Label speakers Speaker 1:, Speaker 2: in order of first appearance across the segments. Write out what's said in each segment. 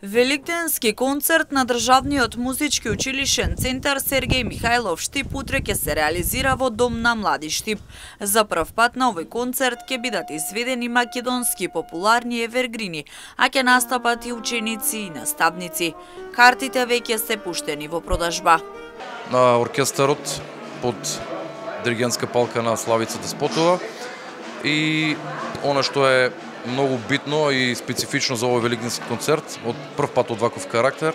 Speaker 1: Великденски концерт на Државниот музички училишен центар Сергеј Михајлов Штип утре ќе се реализира во Дом на млади Штип. За прв пат на овој концерт ќе бидат изведени македонски популарни евергрини, а ќе настапат и ученици и наставници. Картите веќе се пуштени во продажба.
Speaker 2: На оркестарот под диригентска палка на Славица Деспотова и она што е многу битно и специфично за овој великденски концерт, од прв пат од ваков карактер,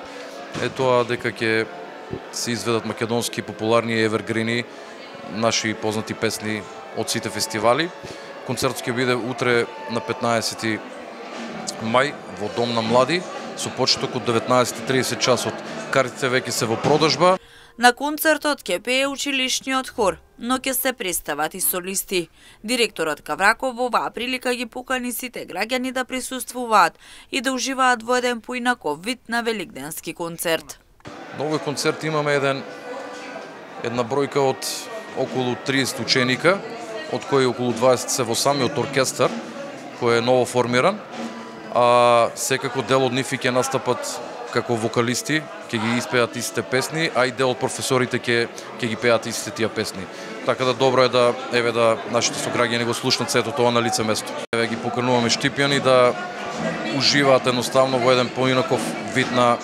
Speaker 2: е тоа дека ќе се изведат македонски популарни евергрини, наши познати песни од сите фестивали. Концертот ќе биде утре на 15 мај во Дом на млади, со почеток од 19:30 часот. Картите веќе се во продажба.
Speaker 1: На концертот ќе пее училишниот хор, но ќе се представат и солисти. Директорот Кавраков во оваа прилика ги покани сите граѓани да присуствуваат и да уживаат во еден поинаков вид на великденски концерт.
Speaker 2: На овој концерт имаме една бројка од околу 30 ученика, од кои околу 20 се во самиот оркестар, кој е ново формиран, а секако дел од нив ќе настапат како вокалисти, ќе ги испеат истите песни, а и дел од професорите ќе ги пеат истите тие песни. Така да добро е да нашите сограѓани го слушнат сето тоа на лице место. Ги покануваме штипјани да уживаат едноставно во еден поинаков вид на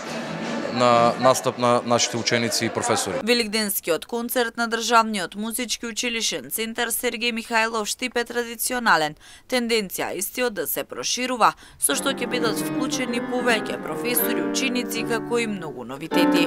Speaker 2: настап на нашите ученици и професори.
Speaker 1: Великденскиот концерт на Државниот музички училишен центар Сергеј Михајлов Штип е традиционален. Тенденција истиот да се проширува, со што ќе бидат вклучени повеќе професори, ученици, како и многу новитети.